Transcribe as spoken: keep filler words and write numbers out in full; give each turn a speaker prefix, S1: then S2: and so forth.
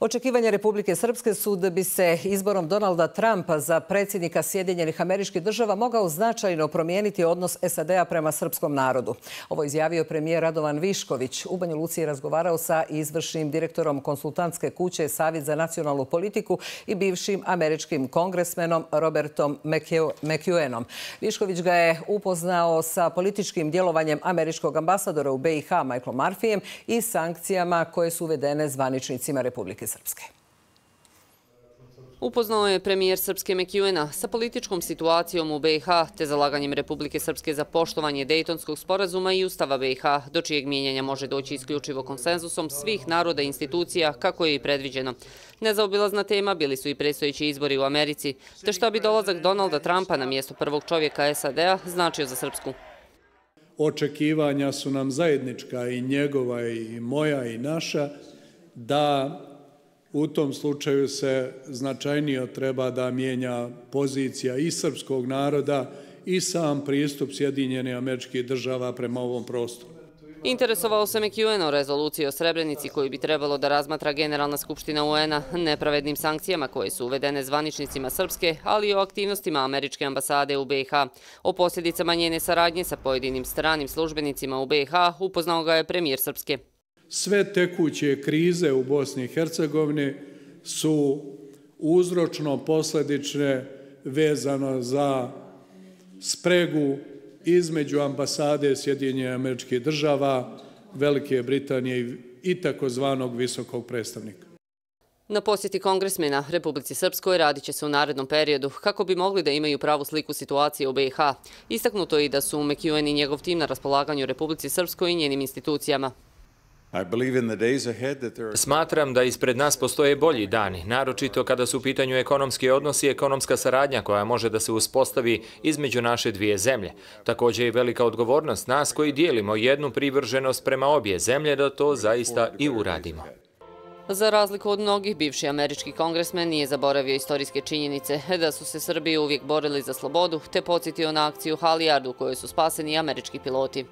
S1: Očekivanja Republike Srpske su da bi se izborom Donalda Trumpa za predsjednika Sjedinjenih Američkih Država mogao značajno promijeniti odnos S A D-a prema srpskom narodu. Ovo izjavio premijer Radovan Višković. U Banja Luci je razgovarao sa izvršnim direktorom konsultantske kuće Savjet za nacionalnu politiku i bivšim američkim kongresmenom Robertom McEwenom. Višković ga je upoznao sa političkim djelovanjem američkog ambasadora u B i H Michaelom Murphyjem i sankcijama koje su uvedene zvaničnicima Republike Srpske.
S2: Upoznao je premijer Srpske McEwena sa političkom situacijom u B i H te zalaganjem Republike Srpske za poštovanje Dejtonskog sporazuma i Ustava B i H, do čijeg mijenjanja može doći isključivo konsenzusom svih naroda i institucija, kako je i predviđeno. Nezaobilazna tema bili su i predstojeći izbori u Americi, te šta bi dolazak Donalda Trumpa na mjesto prvog čovjeka S A D-a značio za Srpsku.
S3: Očekivanja su nam zajednička, i njegova i moja i naša, da u tom slučaju se značajnije treba da mijenja pozicija i srpskog naroda i sam pristup Sjedinjenih Američkih Država prema ovom prostoru.
S2: Interesovao se McEwen o rezoluciji o Srebrenici koju bi trebalo da razmatra Generalna skupština U N-a, nepravednim sankcijama koje su uvedene zvaničnicima Srpske, ali i o aktivnostima američke ambasade u B i H. O posljedicama njene saradnje sa pojedinim stranim službenicima u B i H upoznao ga je premijer Srpske.
S3: Sve tekuće krize u Bosni i Hercegovini su uzročno-posledične vezano za spregu između ambasade Sjedinjenih Američkih Država, Velike Britanije i takozvanog visokog predstavnika.
S2: Na posjeti kongresmena Republici Srpskoj radit će se u narednom periodu kako bi mogli da imaju pravu sliku situacije u B i H. Istaknuto je i da su McEwen i njegov tim na raspolaganju Republici Srpskoj i njenim institucijama.
S4: Smatram da ispred nas postoje bolji dani, naročito kada su u pitanju ekonomski odnosi i ekonomska saradnja koja može da se uspostavi između naše dvije zemlje. Također je velika odgovornost nas koji dijelimo jednu privrženost prema obje zemlje da to zaista i uradimo.
S2: Za razliku od mnogih, bivši američki kongresmen nije zaboravio istorijske činjenice da su se Srbi uvijek borili za slobodu, te podsjetio na akciju Halijard u kojoj su spaseni američki piloti.